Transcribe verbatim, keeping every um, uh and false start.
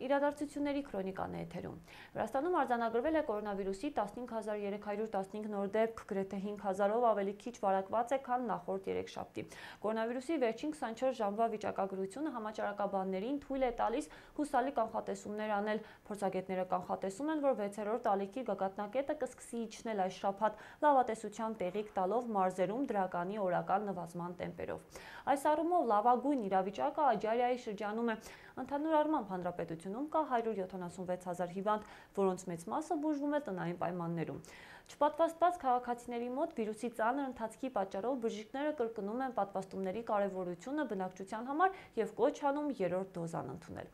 Իրադարձությունների քրոնիկան է էթերում։ Վրաստանում արձանագրվել է կորոնավիրուսի տասնհինգ հազար երեք հարյուր տասնհինգ նոր դեպք, գրեթե հինգ հազարով ավելի քիչ վարակված է, քան նախորդ երեքշաբթի։ Կորոնավիրուսի վերջին քսանչորս ժամվա վիճակագրությունը համաճարակաբաններին թույլ է տալիս հուսալի կանխատեսումներ անել։ Փորձագետները կանխատեսում են, որ վեցերորդ ալիքի գագաթնակետը կսկսի իջնել այս շաբաթ, լավատեսության տեղիք տալով մարզերում դրականի օրական նվազման տեմպերով։ Այս առումով լավագույն իրավիճակը Աջարիայի շրջանում է։ Ընդհանուր առմամբ հանրապետությունում կա հարյուր յոթանասունվեց հազար հիվանդ, որոնց մեծ մասը բուժվում է տնային պայմաններում։ Չպատվաստված քաղաքացիների մոտ վիրուսի ծանր ընթացքի պատճառով բժիշկները կրկնում են պատվաստումների կարևորությունը բնակչության համար և կոչ անում երրորդ դոզան ընդունել։